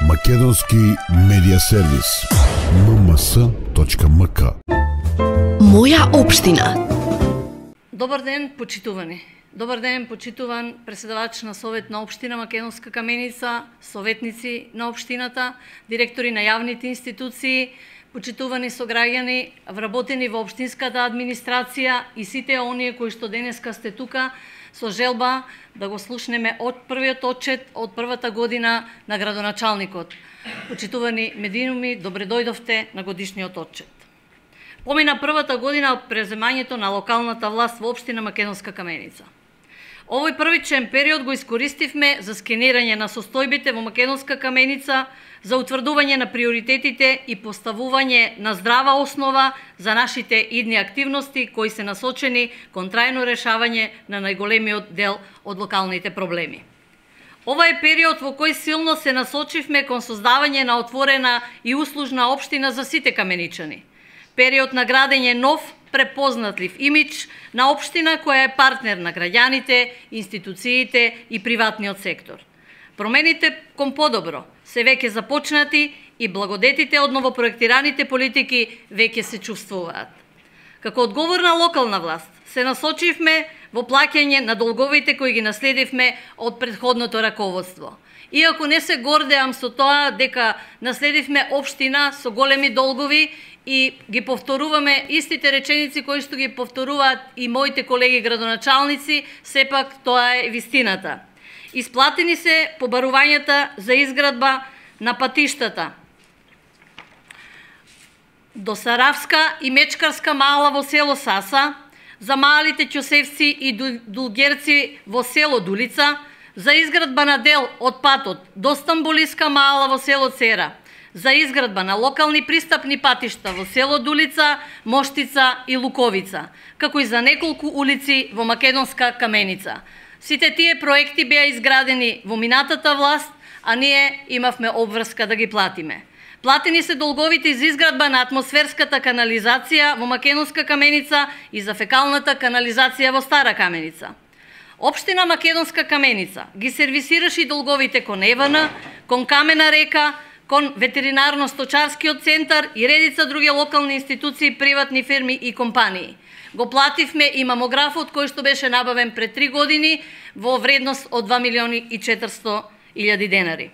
Македонски медија сервис mms.mk. Моја општина. Добар ден, почитувани. Добар ден, почитуван преседавач на Совет на општина Македонска Каменица, советници на општината, директори на јавните институции, почитувани сограѓани, вработени во општинската администрација и сите оние кои што денеска сте тука со желба да го слушнеме од првиот отчет од првата година на градоначалникот. Почитувани медиуми, добре дојдовте на годишниот отчет. Помина првата година од преземањето на локалната власт во општина Македонска Каменица. Овој првичен период го искористивме за скенирање на состојбите во Македонска Каменица, за утврдување на приоритетите и поставување на здрава основа за нашите идни активности кои се насочени кон трајно решавање на најголемиот дел од локалните проблеми. Ова е период во кој силно се насочивме кон создавање на отворена и услужна општина за сите каменичани. Период на градење нов, препознатлив имидж на општина која е партнер на граѓаните, институциите и приватниот сектор. Промените кон подобро се веќе започнати и благодетите од новопроектираните политики веќе се чувствуваат. Како одговорна локална власт се насочивме во плаќање на долговите кои ги наследивме од претходното раководство. Иако не се гордеам со тоа дека наследивме општина со големи долгови и ги повторуваме истите реченици кои што ги повторуваат и моите колеги градоначалници, сепак тоа е вистината. Исплатени се побарувањата за изградба на патиштата до Саравска и Мечкарска мала во село Саса, за малите ќосевци и дулгерци во село Дулица, за изградба на дел од патот до Стамбулиска мала во село Цера, за изградба на локални пристапни патишта во село Дулица, Моштица и Луковица, како и за неколку улици во Македонска Каменица. Сите тие проекти беа изградени во минатата власт, а ние имавме обврска да ги платиме. Платени се долговите за изградба на атмосферската канализација во Македонска Каменица и за фекалната канализација во Стара Каменица. Општина Македонска Каменица ги сервисираше долговите кон ЕВН, кон Камена река, кон ветеринарно-сточарскиот центар и редица други локални институции, приватни фирми и компании. Го плативме и мамографот кој што беше набавен пред 3 години во вредност од 2.400.000 денари.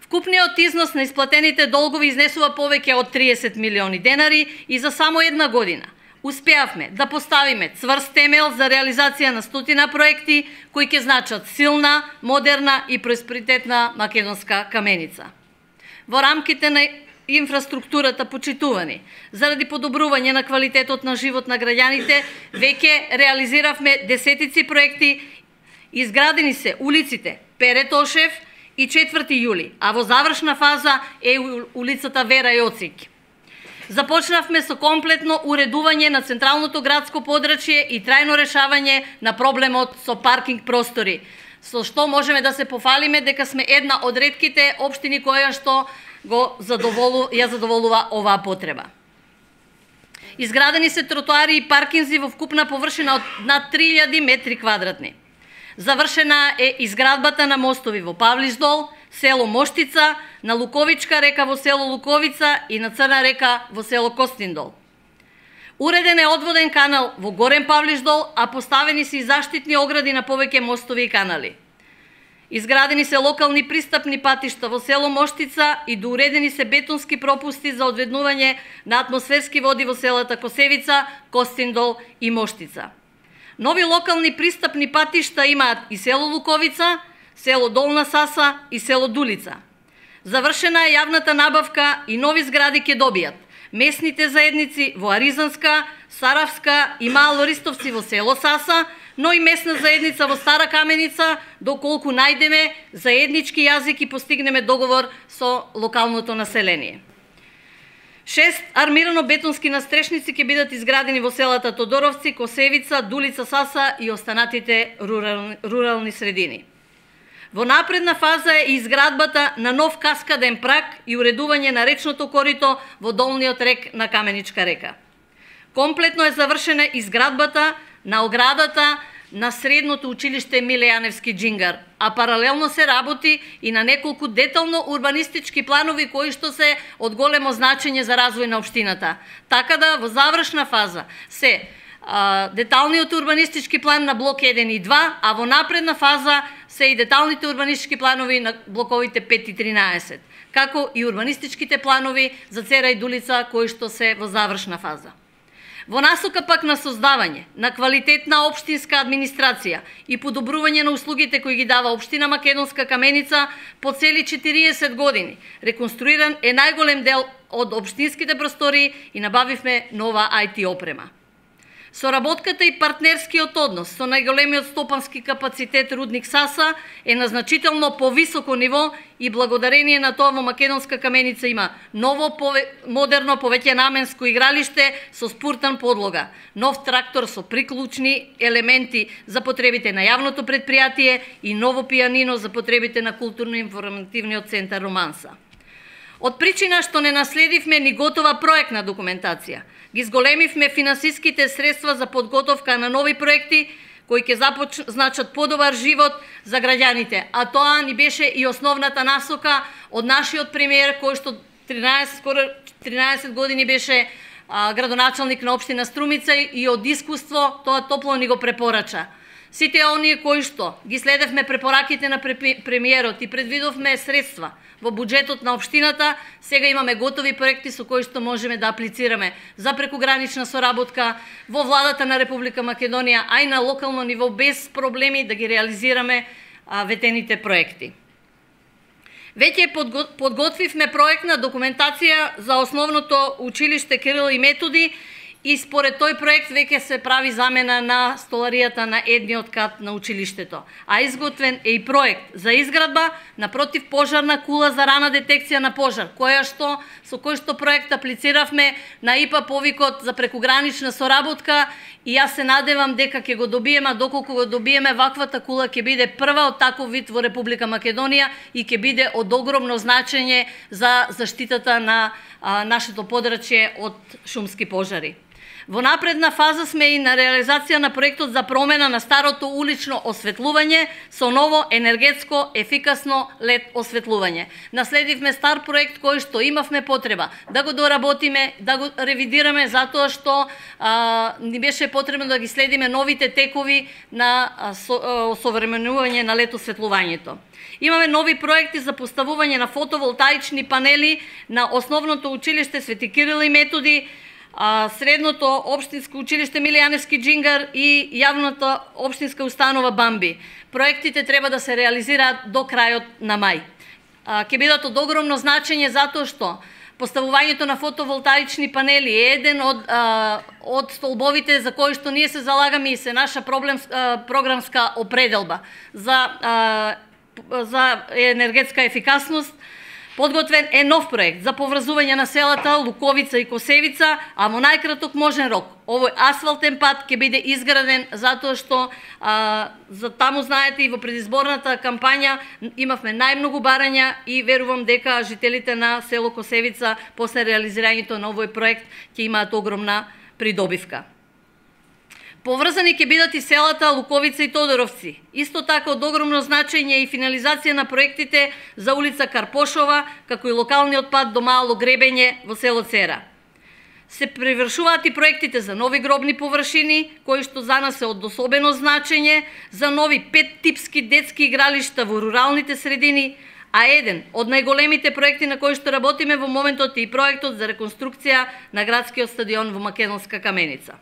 Вкупниот износ на исплатените долгови изнесува повеќе од 30 милиони денари и за само една година успеавме да поставиме цврст темел за реализација на стотина проекти кои ќе значат силна, модерна и просперитетна Македонска Каменица. Во рамките на инфраструктурата, почитувани, заради подобрување на квалитетот на живот на граѓаните, веќе реализиравме десетици проекти, изградени се улиците Перетошев и 4 јули, а во завршна фаза е улицата Вера Јоцик. Започнавме со комплетно уредување на централното градско подрачје и трајно решавање на проблемот со паркинг простори, со што можеме да се пофалиме дека сме една од ретките општини која што ја задоволува оваа потреба. Изградени се тротоари и паркинзи во вкупна површина од над 3000 метри квадратни. Завршена е изградбата на мостови во Павлишдол, село Моштица, на Луковичка река во село Луковица и на Црна река во село Костиндол. Уреден е одводен канал во Горен Павлишдол, а поставени се и заштитни огради на повеќе мостови и канали. Изградени се локални пристапни патишта во село Моштица и доуредени се бетонски пропусти за одведнување на атмосферски води во селата Косевица, Костиндол и Моштица. Нови локални пристапни патишта имаат и село Луковица, село Долна Саса и село Дулица. Завршена е јавната набавка и нови згради ќе добијат местните заедници во Аризанска, Саравска и Мало Ристовци во село Саса, но и местна заедница во Стара Каменица, доколку најдеме заеднички јазик и постигнеме договор со локалното население. 6 армирано-бетонски настрешници ќе бидат изградени во селата Тодоровци, Косевица, Дулица, Саса и останатите рурални средини. Во напредна фаза е изградбата на нов каскаден прак и уредување на речното корито во долниот рек на Каменичка река. Комплетно е завршена изградбата на оградата на средното училиште Миле Јаневски Џингар, а паралелно се работи и на неколку детално урбанистички планови кои што се од големо значење за развој на општината. Така да во завршна фаза се деталниот урбанистички план на блок 1 и 2, а во напредна фаза се и деталните урбанистички планови на блоковите 5 и 13, како и урбанистичките планови за Цера и Дулица кои што се во завршна фаза. Во насока пак на создавање на квалитетна општинска администрација и подобрување на услугите кои ги дава општина Македонска Каменица по цели 40 години, реконструиран е најголем дел од општинските простори и набавивме нова IT опрема. Соработката и партнерскиот однос со најголемиот стопански капацитет Рудник Саса е на значително повисоко ниво и благодарение на тоа во Македонска Каменица има ново модерно повеќенаменско игралиште со спуртан подлога, нов трактор со приклучни елементи за потребите на јавното предпријатие и ново пијанино за потребите на културно-информативниот центар Романса. Од причина што не наследивме ни готова проектна документација, ги зголемивме финансиските средства за подготовка на нови проекти кои ќе значат подобар живот за граѓаните, а тоа ни беше и основната насока од нашиот премиер кој што 13 години беше градоначалник на општина Струмица и од искуство тоа топло ни го препорача. Сите оние кои што ги следевме препораките на премиерот и предвидовме средства во буџетот на општината, сега имаме готови проекти со кои што можеме да аплицираме за прекугранична соработка во владата на Република Македонија, а и на локално ниво без проблеми да ги реализираме ветените проекти. Веќе подготвивме проектна документација за основното училиште Кирил и Методи и според тој проект веќе се прави замена на столаријата на едниот кат на училиштето. А изготвен е и проект за изградба на противпожарна кула за рана детекција на пожар, со кој што проект аплициравме на ИПА повикот за прекугранична соработка и јас се надевам дека ќе го добиеме, а доколку го добиеме, ваквата кула ќе биде прва од таков вид во Република Македонија и ќе биде од огромно значење за заштитата на нашето подрачје од шумски пожари. Во напредна фаза сме и на реализација на проектот за промена на старото улично осветлување со ново енергетско ефикасно LED осветлување. Наследивме стар проект кој што имавме потреба да го доработиме, да го ревидираме затоа што ни беше потребно да ги следиме новите текови на осовременување на LED осветлувањето. Имаме нови проекти за поставување на фотоволтаични панели на основното училиште Свети Кирил и Методи, средното општинско училиште Миле Јаневски Џингар и јавната општинска установа Бамби. Проектите треба да се реализираат до крајот на мај. Ќе бидат од огромно значење затоа што поставувањето на фотоволтаични панели е еден од столбовите за кои што ние се залагаме и се наша програмска определба за енергетска ефикасност. Подготвен е нов проект за поврзување на селата Луковица и Косевица, а во најкраток можен рок овој асфалтен пат ќе биде изграден затоа што за таму знаете и во предизборната кампања имавме најмногу барања и верувам дека жителите на село Косевица после реализирањето на овој проект ќе имаат огромна придобивка. Поврзани ќе бидат и селата Луковица и Тодоровци. Исто така од огромно значење и финализација на проектите за улица Карпошова, како и локалниот пат до Мало Гребење во село Цера. Се превршуваат и проектите за нови гробни површини, кои што за нас се од особено значење, за нови 5 типски детски игралишта во руралните средини, а еден од најголемите проекти на кои што работиме во моментот е и проектот за реконструкција на градскиот стадион во Македонска Каменица.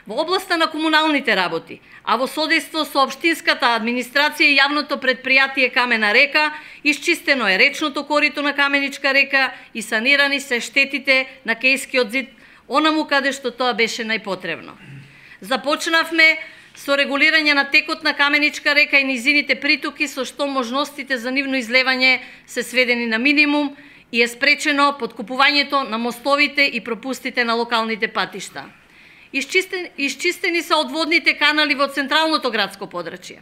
Во областа на комуналните работи, а во содейство со општинската администрација и јавното предпријатие Камена река, исчистено е речното корито на Каменичка река и санирани се штетите на Кејскиот зид, онаму каде што тоа беше најпотребно. Започнавме со регулирање на текот на Каменичка река и низините притоки, со што можностите за нивно излевање се сведени на минимум и е спречено подкупувањето на мостовите и пропустите на локалните патишта. Исчистени се одводните канали во централното градско подрачје,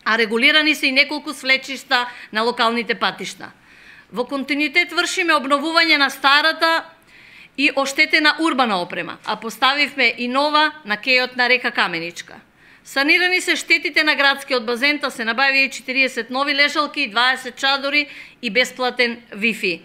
а регулирани се и неколку свлечишта на локалните патишта. Во континуитет вршиме обновување на старата и оштетена урбана опрема, а поставивме и нова на кејот на река Каменичка. Санирани се штетите на градскиот базен, та се набави 40 нови лежалки, 20 чадори и бесплатен Wi-Fi.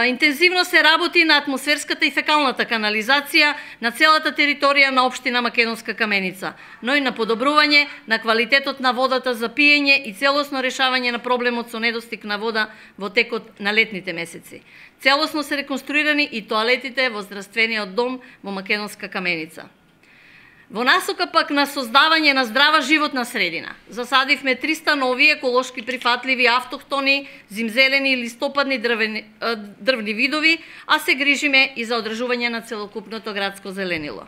Интензивно се работи на атмосферската и фекалната канализација на целата територија на општина Македонска Каменица, но и на подобрување на квалитетот на водата за пиење и целосно решавање на проблемот со недостиг на вода во текот на летните месеци. Целосно се реконструирани и тоалетите во здравствениот дом во Македонска Каменица. Во насока пак на создавање на здрава животна средина, засадивме 300 нови еколошки прифатливи автохтони, зимзелени и листопадни дрвни видови, а се грижиме и за одржување на целокупното градско зеленило.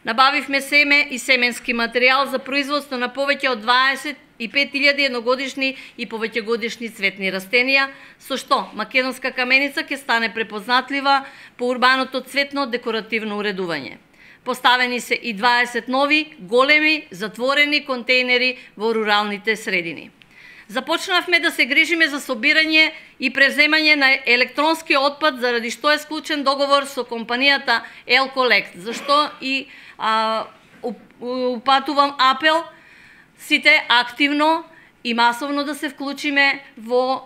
Набавивме семе и семенски материјал за производство на повеќе од 25.000 едногодишни и повеќегодишни цветни растенија, со што Македонска Каменица ќе стане препознатлива по урбаното цветно декоративно уредување. Поставени се и 20 нови, големи, затворени контейнери во руралните средини. Започнавме да се грижиме за собирање и преземање на електронски отпад, заради што е склучен договор со компанијата L-Collect, зашто и упатувам апел сите активно и масовно да се вклучиме во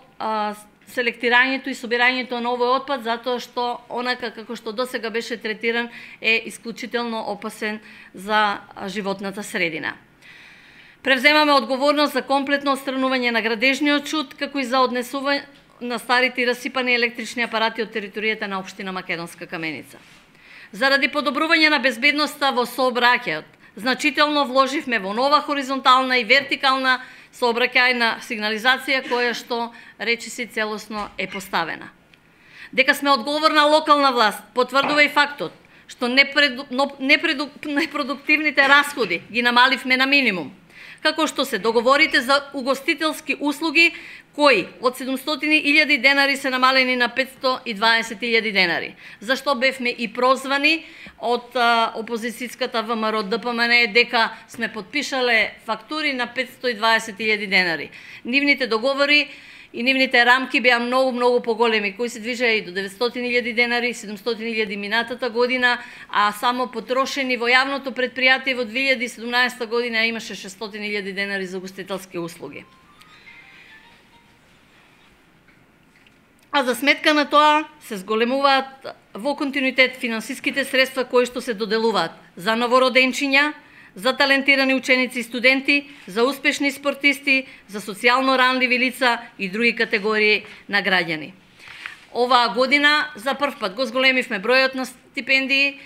селектирањето и собирањето на овој отпад, затоа што онака како што досега беше третиран е исклучително опасен за животната средина. Превземаме одговорност за комплетно отстранување на градежниот шут, како и за однесување на старите и расипани електрични апарати од територијата на општина Македонска Каменица. Заради подобрување на безбедноста во сообраќајот, значително вложивме во нова хоризонтална и вертикална сообраќајна сигнализација која што речиси целосно е поставена. Дека сме одговорна локална власт потврдува и фактот што непродуктивните расходи ги намаливме на минимум, како што се договорите за угостителски услуги кои од 700.000 денари се намалени на 520.000 денари, зашто бевме и прозвани од опозицијската ВМРО ДПМН дека сме подпишале фактури на 520.000 денари. Нивните договори и нивните рамки беа многу поголеми, кои се движеа и до 900.000 денари, 700.000 минатата година, а само потрошени во јавното предпријатие во 2017 година имаше 600.000 денари за угостителски услуги. А за сметка на тоа се зголемуваат во континуитет финансиските средства кои што се доделуваат за новороденчиња, за талентирани ученици и студенти, за успешни спортисти, за социјално ранливи лица и други категории на граѓани. Оваа година за прв пат го зголемивме бројот на стипендии,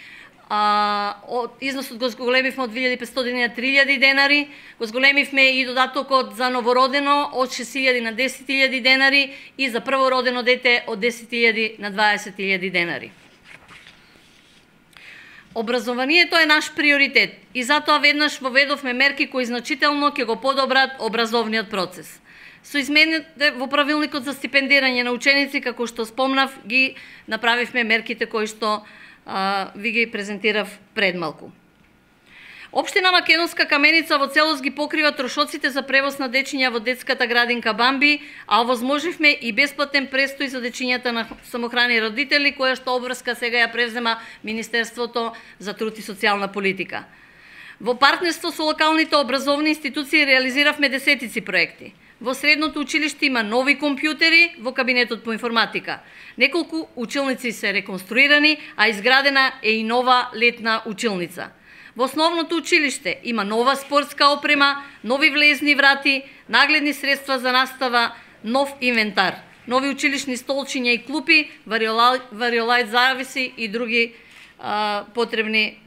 износот го зголемивме од 2.500 на 3.000 денари, го зголемивме и додатокот за новородено од 6.000 на 10.000 денари и за првородено дете од 10.000 на 20.000 денари. Образованието е наш приоритет и затоа веднаш воведовме мерки кои значително ќе го подобрат образовниот процес. Со измените во правилникот за стипендирање на ученици, како што спомнав, ги направивме мерките кои што ви ги презентирав пред малку. Општина Македонска Каменица во целост ги покрива трошоците за превоз на дечиња во детската градинка Бамби, а овозможивме и бесплатен престој за дечињата на самохрани родители, која што обврска сега ја превзема Министерството за труд и социјална политика. Во партнерство со локалните образовни институции реализиравме десетици проекти. Во средното училиште има нови компјутери во кабинетот по информатика. Неколку училници се реконструирани, а изградена е и нова летна училница. Во основното училиште има нова спортска опрема, нови влезни врати, нагледни средства за настава, нов инвентар, нови училишни столчиња и клупи, вариолајт зависи и други потребни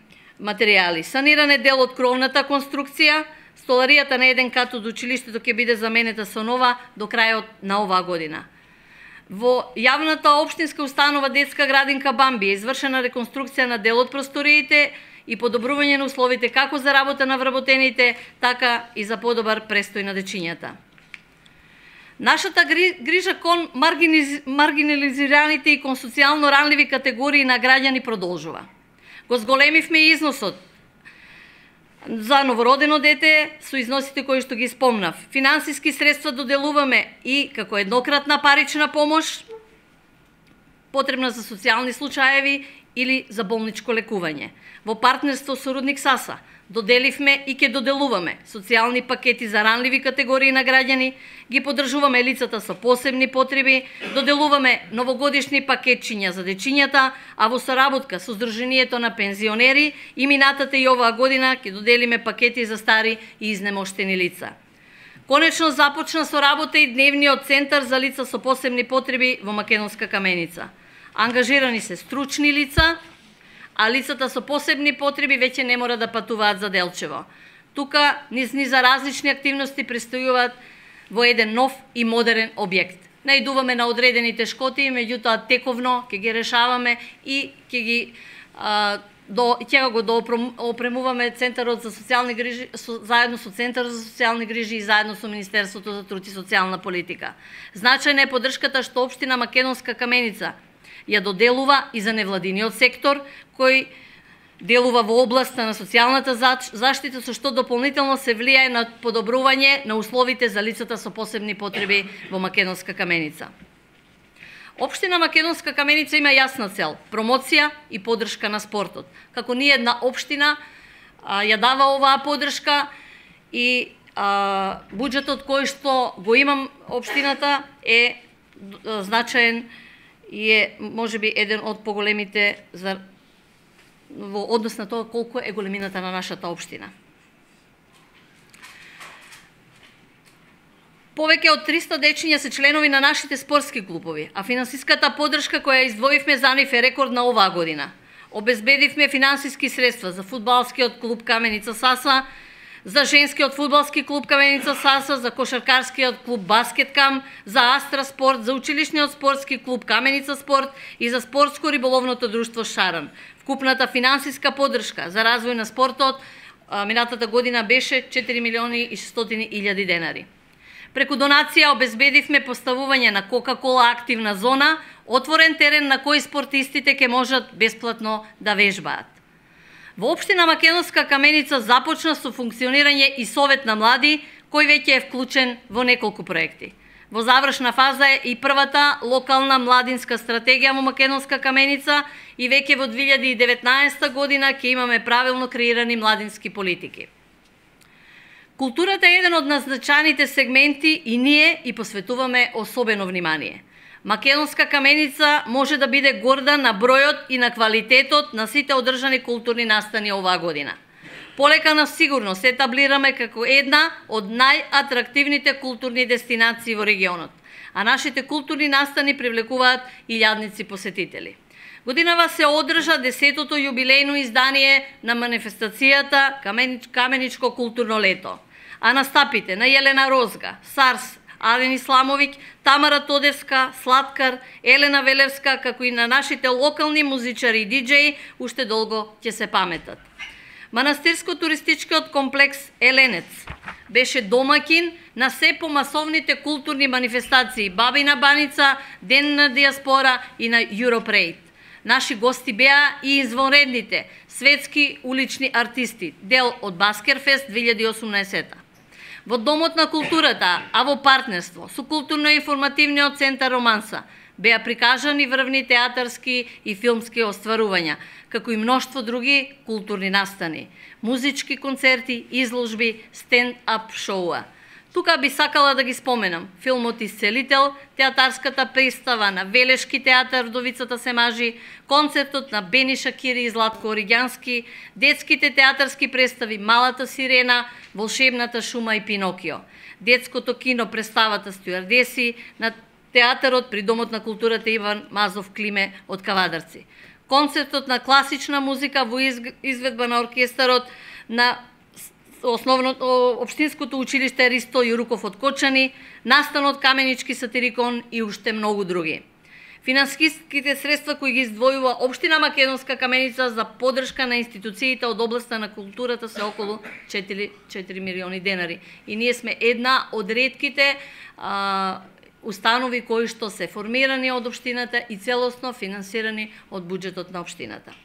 материјали. Саниран е дел од кровната конструкција, столаријата на еден кат од училиштето ќе биде заменета со нова до крајот на оваа година. Во јавната општинска установа детска градинка Бамби е извршена реконструкција на дел од просториите и подобрување на условите како за работа на вработените, така и за подобар престој на дечињата. Нашата грижа кон маргинализираните и кон социјално ранливи категории на граѓани продолжува. Го зголемивме износот за новородено дете со износите кои што ги спомнав. Финансиски средства доделуваме и како еднократна парична помош потребна за социјални случаеви или за болничко лекување. Во партнерство со Рудник Саса Доделивме и ќе доделуваме социјални пакети за ранливи категории на граѓани, ги поддржуваме лицата со посебни потреби, доделуваме новогодишни пакетчиња за дечињата, а во соработка со Сдруженијето на пензионери и минатата и оваа година ќе доделиме пакети за стари и изнемоштени лица. Конечно започна со работа и дневниот центар за лица со посебни потреби во Македонска Каменица. Ангажирани се стручни лица, а лицата со посебни потреби веќе не мора да патуваат за Делчево. Тука низ за различни активности престојуваат во еден нов и модерен објект. Наидуваме на одредени тешкоти, меѓутоа тековно ќе ги решаваме и ќе го опремуваме Центарот за социјални грижи заедно со Центар за социјални грижи и заедно со Министерството за труд и социјална политика. Значајна е поддршката што општина Македонска Каменица ја доделува и за невладиниот сектор, кој делува во областа на социјалната заштита, со што дополнително се влијае на подобрување на условите за лицата со посебни потреби во Македонска Каменица. Општина Македонска Каменица има јасна цел – промоција и поддршка на спортот. Како ни една општина ја дава оваа поддршка и буџетот кој што го имам општината е значаен и е можеби еден од поголемите во однос на тоа колку е големината на нашата општина. Повеќе од 300 дечиња се членови на нашите спортски клубови, а финансиската поддршка која издвоивме за нив е рекордна оваа година. Обезбедивме финансиски средства за фудбалскиот клуб Каменица Саса, за женскиот фудбалски клуб Каменица Саса, за кошаркарскиот клуб Баскеткам, за Астра Спорт, за училишниот спортски клуб Каменица Спорт и за спортско-риболовното друштво Шаран. Вкупната финансиска поддршка за развој на спортот минатата година беше 4.600.000 денари. Преку донација обезбедивме поставување на Кока-кола активна зона, отворен терен на кој спортистите ќе можат бесплатно да вежбаат. Во општина Македонска Каменица започна со функционирање и Совет на млади, кој веќе е вклучен во неколку проекти. Во завршна фаза е и првата локална младинска стратегија во Македонска Каменица и веќе во 2019 година ќе имаме правилно креирани младински политики. Културата е еден од назначаните сегменти и ние и посветуваме особено внимание. Македонска Каменица може да биде горда на бројот и на квалитетот на сите одржани културни настани оваа година. Полека на сигурно се етаблираме како една од најатрактивните културни дестинации во регионот, а нашите културни настани привлекуваат илјадници посетители. Годинава се одржа 10-тото јубилејно издание на манифестацијата Каменичко културно лето, а настапите на Јелена Розга, Сарс, Ален Исламовиќ, Тамара Тодевска, Сладкар, Елена Велевска, како и на нашите локални музичари и диџеи, уште долго ќе се паметат. Манастирско-туристичкиот комплекс Еленец беше домакин на се помасовните културни манифестации Бабина баница, Ден на диаспора и на Европрейд. Наши гости беа и извонредните светски улични артисти, дел од Баскерфест 2018. Во Домот на културата, а во партнерство со културно-информативниот центар Романса, беа прикажани врвни театарски и филмски остварувања, како и мноштво други културни настани, музички концерти, изложби, стенд-ап шоуа. Тука би сакала да ги споменам филмот Исцелител, театарската представа на Велешки театар Вдовицата се мажи, концертот на Бени Шакири и Златко Оригјански, детските театарски представи Малата сирена, Волшебната шума и Пинокио, детското кино представата Стюардеси на театарот при Домот на културата Иван Мазов Климе од Кавадарци, концертот на класична музика во изведба на оркестарот на Општинското училиште Ристо Јуруков од Кочани, настанот Каменички сатирикон и уште многу други. Финансиските средства кои ги издвојува Општина Македонска Каменица за поддршка на институциите од областа на културата се околу 4 милиони денари. И ние сме една од ретките установи кои што се формирани од општината и целосно финансирани од буџетот на општината.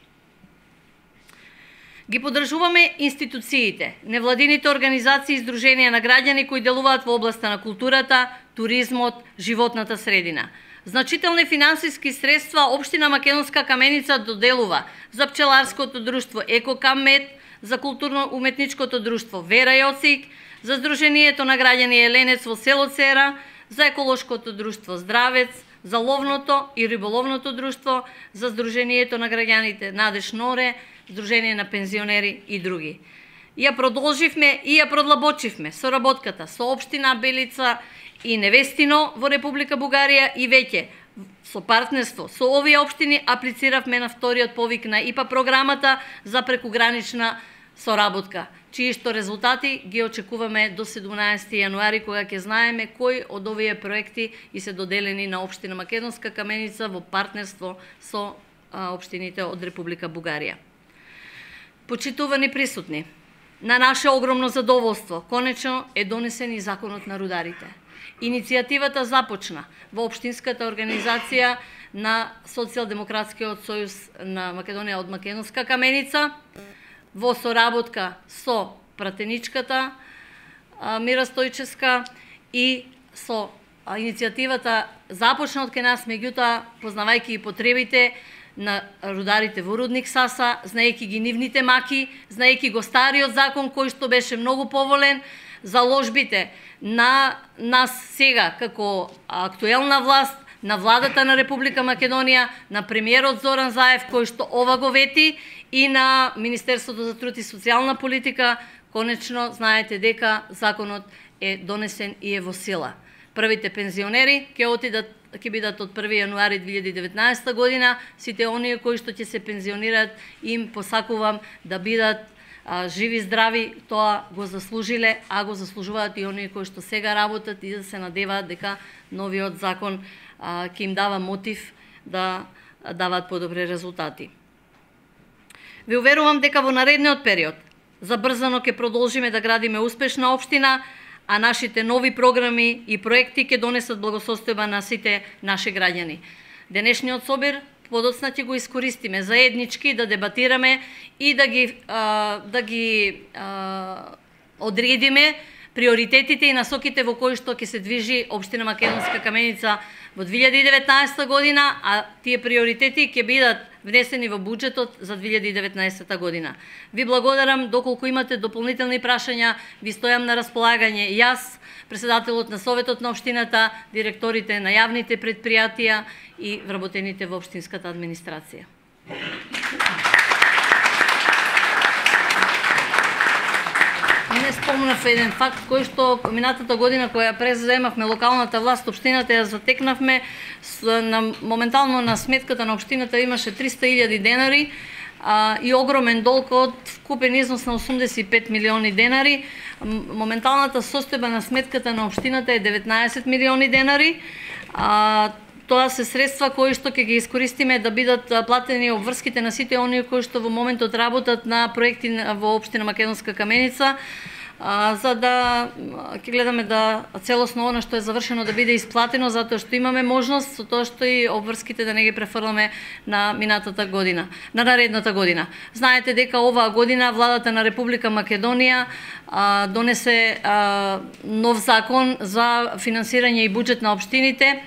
Ги поддржуваме институциите, невладините организации и здруженија на граѓани кои делуваат во областа на културата, туризмот, животната средина. Значителни финансиски средства Општина Македонска Каменица доделува за пчеларското друштво Екокаммет, за културно-уметничкото друштво Вера Јоцик, за Сдруженијето на граѓани Еленец во село Цера, за еколошкото друштво Здравец, за ловното и риболовното друштво, за Сдруженијето на граѓаните Надеж Норе, Сдружение на пензионери и други. Ја продолживме и ја продлабочивме соработката со општина Белица и Невестино во Република Бугарија и веќе со партнерство со овие општини аплициравме на вториот повик на ИПА програмата за прекугранична соработка, чии што резултати ги очекуваме до 17 јануари, кога ќе знаеме кои од овие проекти и се доделени на општина Македонска Каменица во партнерство со општините од Република Бугарија. Почитувани присутни, на наше огромно задоволство, конечно е донесен и законот на рударите. Иницијативата започна во општинската организација на Социјалдемократскиот сојуз на Македонија од Македонска Каменица, во соработка со пратеничката Мира Стојчевска и со иницијативата започна од кај нас, меѓутоа познавајќи и потребите на рударите во рудник Саса, знаејќи ги нивните маки, знаејќи го стариот закон кој што беше многу поволен, заложбите на нас сега како актуелна власт, на владата на Република Македонија, на премиерот Зоран Заев кој што ова го вети и на Министерството за труд и социјална политика, конечно знаете дека законот е донесен и е во сила. Првите пензионери ќе бидат од 1 јануари 2019 година, сите оние кои што ќе се пензионираат, им посакувам да бидат живи, здрави, тоа го заслужиле, а го заслужуваат и оние кои што сега работат и да се надеваат дека новиот закон ќе им дава мотив да даваат подобри резултати. Ви уверувам дека во наредниот период забрзано ќе продолжиме да градиме успешна општина, а нашите нови програми и проекти ќе донесат благосостојба на сите наши граѓани. Денешниот собир подоцна ќе го искористиме заеднички да дебатираме и да ги одредиме приоритетите и насоките во кои што ќе се движи општина Македонска Каменица во 2019 година, а тие приоритети ќе бидат внесени во буџетот за 2019 година. Ви благодарам, доколку имате дополнителни прашања, ви стојам на располагање јас, председателот на Советот на општината, директорите на јавните предпријатија и вработените во општинската администрација. Не спомнав еден факт кој што минатата година која преземавме локалната власт, општината ја затекнавме, моментално на сметката на општината имаше 300.000 денари и огромен долг од вкупен износ на 85 милиони денари. Моменталната состојба на сметката на општината е 19 милиони денари. Тоа се средства кои што ќе ги искористиме да бидат платени обврските на сите оние кои што во моментот работат на проекти во општина Македонска Каменица, за да ќе гледаме да целосно она што е завршено да биде исплатено, затоа што имаме можност со тоа што и обврските да не ги префрламе на минатата година, на наредната година. Знаете дека оваа година владата на Република Македонија донесе нов закон за финансирање и буџет на општините,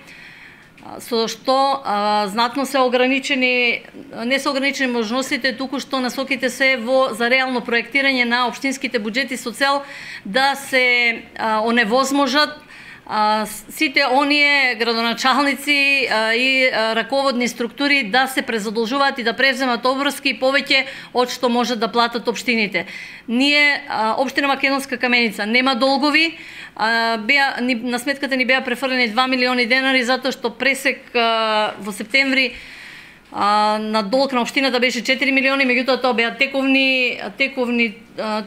со што знатно се ограничени, не се ограничени можностите, туку што насоките се за реално проектирање на општинските буџети со цел да се оневозможат сите оние градоначалници и раководни структури да се презадолжуваат и да превземат обврски повеќе од што можат да платат општините. Ние, општина Македонска Каменица, нема долгови, на сметката ни беа префрлени 2 милиони денари затоа што пресек во септември на долг на општината беше 4 милиони, меѓутоа тоа беа тековни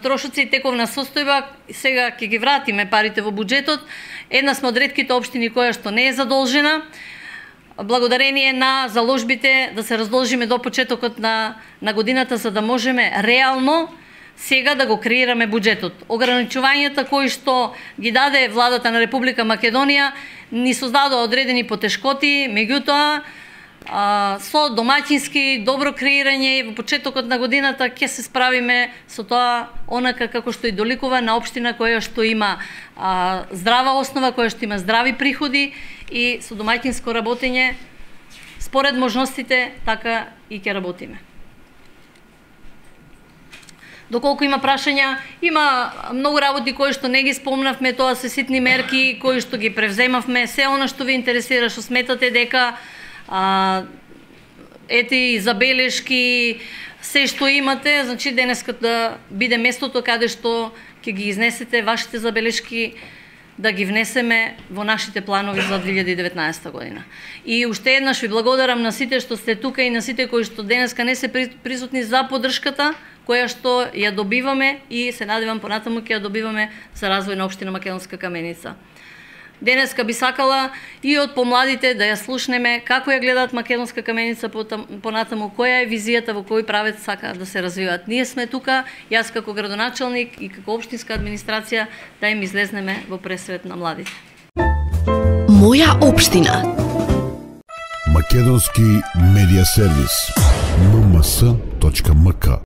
трошоци, тековна состојба. Сега ќе ги вратиме парите во буџетот. Една сме од ретките општини која што не е задолжена. Благодарение на заложбите да се раздолжиме до почетокот на годината, за да можеме реално сега да го креираме буџетот. Ограничувањата кои што ги даде владата на Република Македонија ни создадоа одредени потешкоти, меѓутоа со домаќински добро креирање и во почетокот на годината ќе се справиме со тоа онака како што и доликува на општина која што има здрава основа, која што има здрави приходи и со домаќинско работење според можностите така и ќе работиме. Доколку има прашања, има многу работи кои што не ги спомнавме, тоа се ситни мерки кои што ги превземавме, се она што ви интересира, што сметате дека ети забелешки, се што имате, значи денеска да биде местото каде што ќе ги изнесете вашите забелешки, да ги внесеме во нашите планови за 2019 година. И уште еднаш ви благодарам на сите што сте тука и на сите кои што денеска не се присутни за поддршката која што ја добиваме и се надевам понатаму ќе ја добиваме за развој на општина Македонска Каменица. Денеска би сакала и од помладите да ја слушнеме како ја гледаат Македонска Каменица понатаму, која е визијата, во кој правец сакаат да се развиваат. Ние сме тука, јас како градоначалник и како општинска администрација да им излезнеме во пресвет на младите. Моја општина. Македонски медија сервис. mms.mk